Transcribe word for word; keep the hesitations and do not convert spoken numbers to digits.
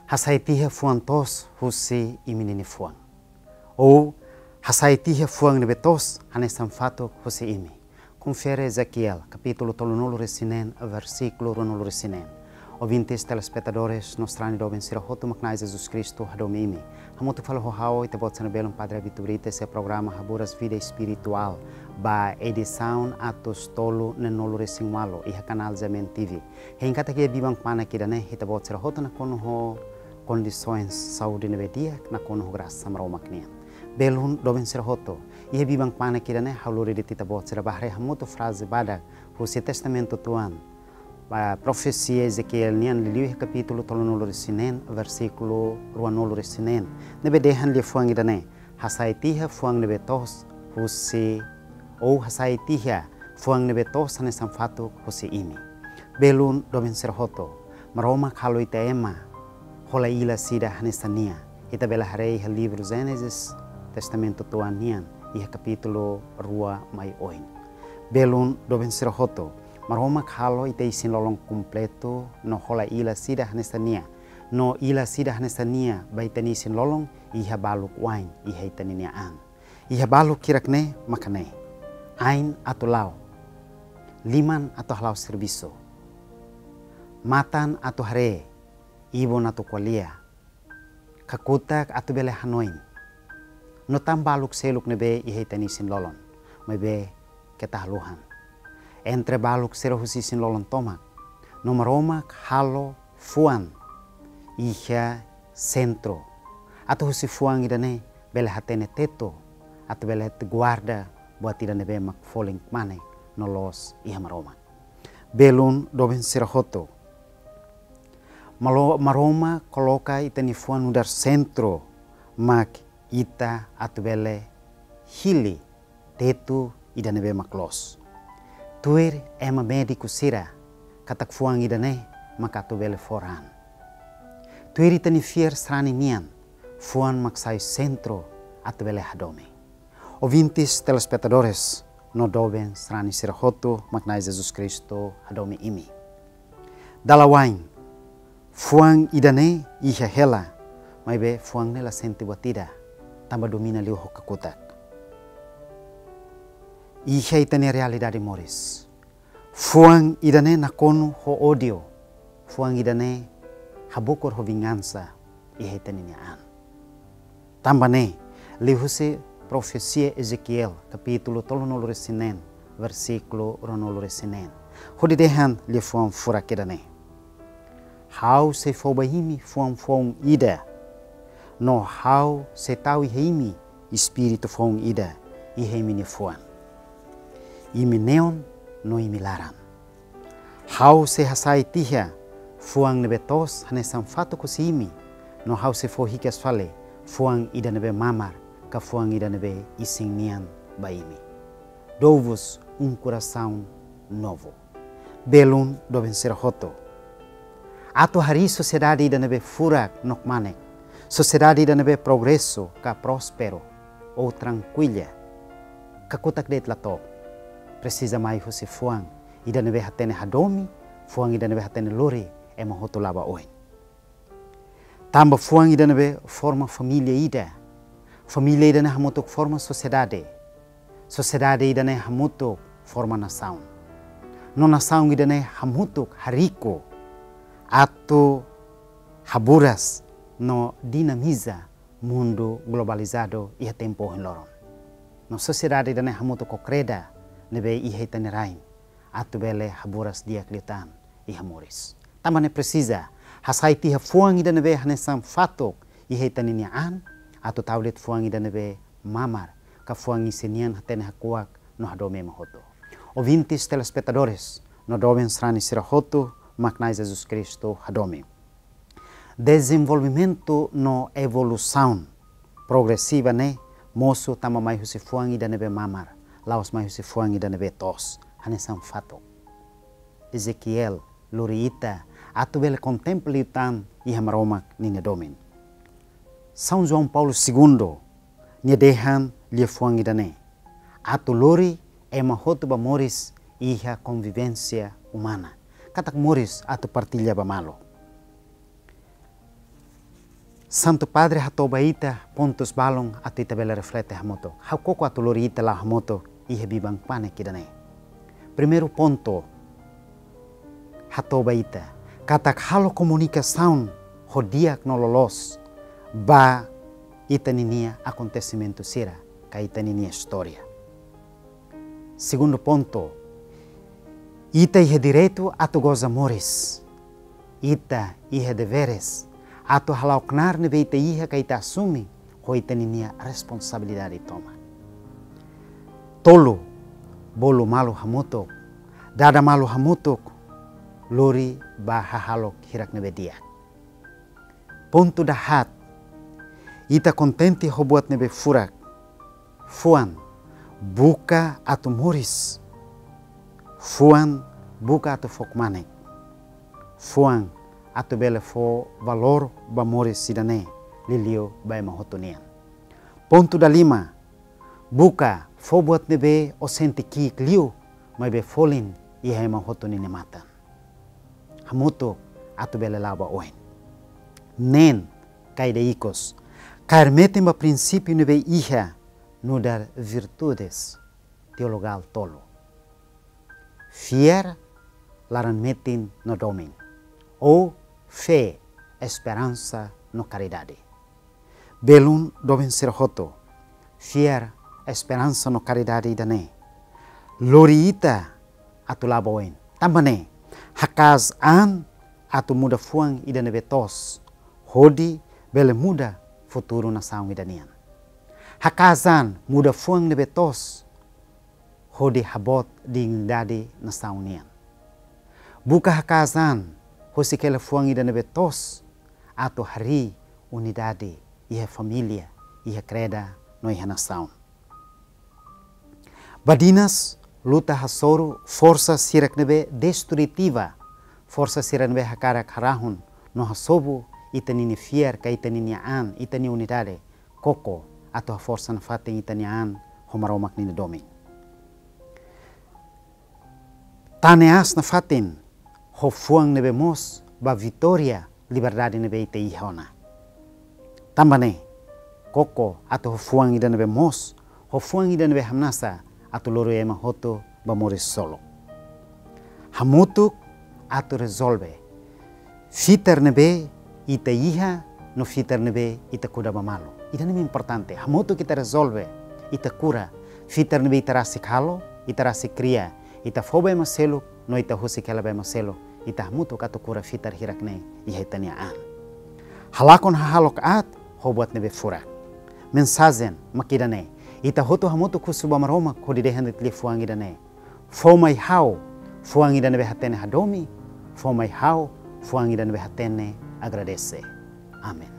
Hasai tiha fuan toos husi imi-nia fuan. Ou hasai tiha fuan ne'ebé toos hanesan fatuk husi imi. Konfere Ezequiel, kapítulu tolunulu-resin-neen, versíkulu ruanulu-resin-neen. Ouvintes, telespetadores, no sarani doben sira hotu mak Na'i Jesus Kristu hadomi imi. Hamutuk fali ho ha'u, ita-boot sira-nia belun Padre Abito Brites, iha programa Haburas Vida Espirituál, ba edisaun atus tolu neenulu-resin-ualu, iha kanál G M N T V. Hein katak iha biban kmanek ida-ne'e, ita-boot sira hotu nakonu ho kondisoens saúde ne'ebé di'ak, nakonu ho grasa Maromak nian. Belun doben sira hotu, iha biban kmanek ida-ne'e, ha'u lori de'it ita-boot sira ba haree hamutuk fraze badak husi Testamentu Tuan, ba profesia Ezequiel nian, liuliu iha kapítulu tolunulu-resin-neen, versíkulu ruanulu-resin-neen, ne'ebé dehan liafuan ida-ne'e: Hasai tiha fuan ne'ebé toos husi, ou hasai tiha fuan ne'ebé toos hanesan fatuk husi imi. Belun doben sira hotu, Maromak halo ita ema hola ilas ida hanesan nia. Ita bele haree iha livru Génesis, Testamentu Tuan nian, iha kapítulu rua mai oin. Belun doben sira hotu, Maromak halo ita isin-lolon kompletu no hola ilas ida hanesan nia. No ilas ida hanesan nia ba ita-nia isin-lolon iha baluk wa'in iha ita-nia an. Iha baluk hirak-ne'e maka ne'e: ain atu la'o, liman atu hala'o servisu, matan atu haree, ibun atu ko'alia, kakutak atu bele hanoin, no tan baluk seluk ne'ebé iha ita-nia isin-lolon. Maibé keta haluhan, entre baluk sira husi isin-lolon tomak, no Maromak halo fuan iha sentru, atu husi fuan ida-ne'e bele hatene tetu, atu bele guarda buat ida ne'ebé mak folin kmanek no loos iha Maromak. Belun doben sira hotu, Malo-, Maromak koloka ita-nia fuan nu'udar sentru, mak ita atu bele hili tetu ida ne'ebé mak loos. Tuir ema médiku sira katak fuan ida-ne'e mak atu bele fó raan. Tuir ita-nia fiar sarani nian, fuan mak sai sentru atu bele hadomi. Ouvintes, telespetadores, no doben sarani sira hotu mak Na'i Jesus Kristu hadomi imi. Dala wa'in, fuan ida-ne'e iha hela, maibé fuan ne'e la sente buat ida, tanba domina liu ho kakutak. Iha ita-nia realidade moris, fuan ida-ne'e nakonu ho ódiu, fuan ida-ne'e habukur ho vingansa iha ita-nia an. Tanba ne'e, liuhusi profesia Ezequiel, kapítulu tolunulu-resin-neen, versíkulu ruanulu-resin-neen, hodi dehan liafuan furak ida-ne'e: Ha'u sei fó ba imi fuan foun ida, no Ha'u sei tau iha imi espíritu foun ida iha imi-nia fuan, imi neon no imi laran. Ha'u sei hasai tiha fuan ne'ebé toos hanesan fatuk husi imi, no Ha'u sei fó hikas fali fuan ida ne'ebé mamar, ka fuan ida ne'ebé isin nian ba imi. Dou-vos um coração novo. Belun doben sira hotu, atu harii sosiedade ida ne'ebé furak no kmanek, sosiedade ida ne'ebé progresu ka prósperu ou trankuila, kakutak de'it la to'o. Presiza mai husi fuan ida ne'ebé hatene hadomi, fuan ida ne'ebé hatene lori ema hotu la'o ba oin. Tanba fuan ida ne'ebé forma família ida, família ida-ne'e hamutuk forma sosiedade, sosiedade ida-ne'e hamutuk forma nasaun, no nasaun ida-ne'e hamutuk hariku atu haburas no dinamiza mundu globalizadu iha tempu ohin loron. No sosiedade ida-ne'e hamutuk ho kreda ne'ebé iha ita-nia rain atu bele haburas di'ak liután iha moris. Tanba ne'e presiza hasai tiha fuan ida ne'ebé hanesan fatuk iha ita-nia an, atu tau de'it fuan ida ne'ebé mamar, ka fuan isin nian hatene hakuak no hadomi ema hotu. Ouvintes, telespetadores, no doben sarani sira hotu mak Na'i Jesus Kristu hadomi. Dezenvolvimentu no evolusaun progresiva ne'e mosu tanba mai husi fuan ida ne'ebé mamar, la'ós mai husi fuan ida ne'ebé toos hanesan fatuk. Ezequiel lori ita atu bele kontempla liután iha Maromak ninia domin. São João Paulo Segundo nia dehan liafuan ida-ne'e atu lori ema hotu ba moris iha konvivénsia umana, katak moris atu partilla ba malu. Santu Padre hato'o ba ita pontus balun atu ita bele reflete hamutuk. Ha'u koko atu lori ita la'o hamutuk iha biban-panek ida-ne'e. Primeiru pontu, hato'o ba ita katak halo komunikasaun ho di'ak no loloos ba ita ninia akontesimentu sira ka ita ninia istória. Segundu pontu, ita iha direitu atu goza moris. Ita iha deveres atu hala'o knaar ne'ebé ita iha ka ita asume ho ita ninia responsabilidade tomak. Tolu, bolu malu hamutuk, dada malu hamutuk, lori ba hahalok hirak ne'ebé di'ak. Pontu dahaat, ita kontente ho buat ne'ebé furak. Fuan, buka atu moris. Fuan, buka atu fó kmanek. Fuan, atu bele fó valór ba moris ida-ne'e, liuliu ba ema hotu nian. Pontu dalima, buka fó buat ne'ebé ó sente ki'ik liu, maibé folin iha ema hotu ninia matan. Hamutuk atu bele la'o ba oin. Neen, ka ida ikus, kaer metin ba prinsípiu ne'ebé iha nu'udar virtudes teologál tolu. Fiar, laran-metin no domin. Ou fé, esperansa no karidade. Belun doben sira hotu, fiar, esperansa no karidade ida-ne'e lori ita atu la'o ba oin. Tanba ne'e, haka'as an atu muda fuan ida ne'ebé toos, hodi bele muda futuru nasaun ida nian. Haka'as an muda fuan ne'ebé toos, hodi haboot dignidade nasaun nian. Buka haka'as an husik hela fuan ida ne'ebé toos atu harii unidade iha família, iha kreda no iha nasaun. Badinas luta hasoru forsa sira ne'ebé destrutiva, forsa sira ne'ebé hakarak harahun no hasobu ita ninia fiar ka ita ninia an, ita-nia unidade, koko atu haforsa nafatin ita-nia an ho Maromak ninia domin. Tane aas nafatin ho fuan ne'ebé moos ba vitória liberdade ne'ebé ita iha ona. Tanba ne'e, koko atu ho fuan ida ne'ebé moos, ho fuan ida ne'ebé hamnasa atu lori ema hotu ba moris solok. Hamutuk atu rezolve fitar ne'ebé ita iha no fitar ne'ebé ita kuda ba malu. Ida-ne'e importante. Hamutuk ita rezolve, ita kura fitar ne'ebé ita rasik halo, ita rasik kria, ita fó ba ema seluk no ita husik hela ba ema seluk. Ita hamutuk atu kura fitar hirak-ne'e iha ita-nia an. Halakon hahalok aat ho buat ne'ebé furak. Mensajen mak ida-ne'e. Ita hotu hamutuk husu ba Maromak hodi dehan de'it liafuan ida-ne'e: Fó mai ha'u fuan ida ne'ebé hatene hadomi, fó mai ha'u fuan ida ne'ebé hatene agradese. Amen.